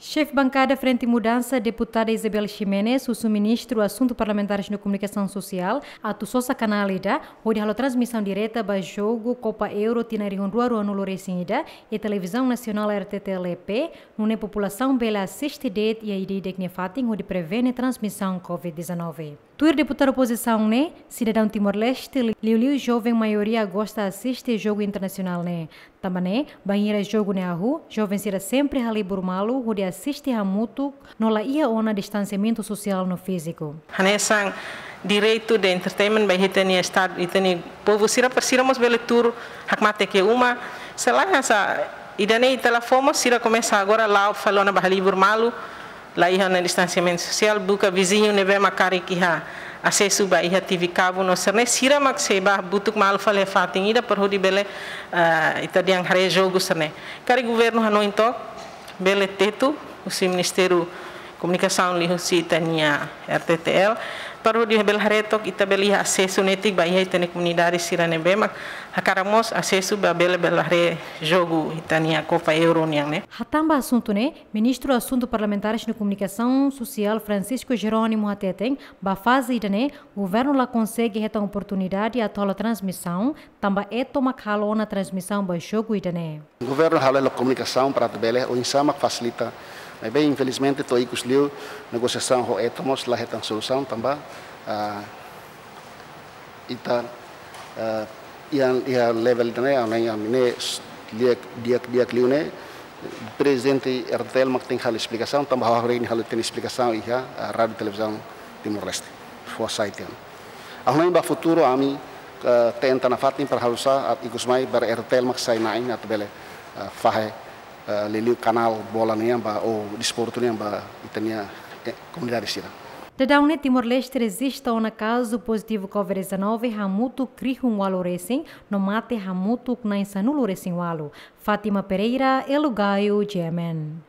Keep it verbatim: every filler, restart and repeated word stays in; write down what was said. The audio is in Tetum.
Xefe bankada Frente Mudansa, deputada Isabel Ximenes, husu Ministru Asuntu Parlamentares no Komunikasaun Sosiál, atu sosa kanál ida hodi halo transmisaun direta ba jogu Copa Euro tinan rihun rua ruanulu resin ida iha Televizaun Nasionál R T T L E P, nune'e populasaun bele asiste de'it iha ida-idak nia fatin hodi prevene transmisaun covid dezanove. Tuir deputadu opozisaun ne'e, sidadaun Timor-Leste, liuliu joven, maioria gosta asiste jogu internasionál ne'e. Tanba ne'e, bainhira jogu ne'e hahú, joven sira sempre halibur malu hodi asiste hamutuk no la iha ona distansiamentu sosiál no fíziku. Hanesan direitu de entertainment ba ita-nia estadu, ita-nia povu sira, para sira mós bele tuur hakmatek iha uma. Se lae hanesan ida-ne'e ita la fó mós, sira komesa agora la'o fali ona ba halibur malu, la iha ona distansiamentu sosiál, buka viziñu ne'ebé mak karik iha asesu ba iha T V kabu no sira-ne'e, sira mak sei bá hamutuk malu fali iha fatin ida para hodi bele, ah, ita dehan haree jogu sira-ne'e. Karik governu hanoin took, bele tetu husi Ministériu Komunikasaun liuhusi ita-nia R T T L, para hodi bele haree took ita bele iha asesu netik ba iha ita-nia komunidade sira ne'ebé mak hakarak mós asesu ba bele, bele haree jogu ita-nia Copa Euro nian ne'e. Hatán ba asuntu ne'e, Ministru Asuntu Parlamentares no Komunikasaun Sosiál Francisco Jerónimo hateten, ba faze ida-ne'e, governu la konsege hetan oportunidade atu halo transmisaun, tanba ETO mak halo ona transmisaun ba jogu ida-ne'e. Governu halo hela komunikasaun para atu bele, oinsá mak fasilita. Maibé, infelizmente, to'o ikus liu, negosiasaun ho ETO mós la hetan solusaun, tanba, ah, ita, ah, iha, iha level ida-ne'e, ah, ne'e, ah, ne'e, s-, di'ak, di'ak, di'ak liu ne'e, prezidente R T L mak tenke halo esplikasaun, tanba ha'u hakarak halo tenke esplikasaun iha, ah, Rádiu Televizaun Timor-Leste. Fó sai tiha ona. Ha'u hanoin ba futuru ami, eh, tenta nafatin para halo sá, ah, ikus mai para R T L mak sai na'in atu bele, eh, fahe, eh, liuliu kanál bola nian ba, ou desportu nian ba ita-nia, eh, komunidade sira. Daudaun ne'e Timor-Leste rejista ona kazu pozitivu covid dezanove hamutuk rihun ualu resin, no mate hamutuk na'in sanulu resin ualu. Fátima Pereira, Elo Gaio, G M N.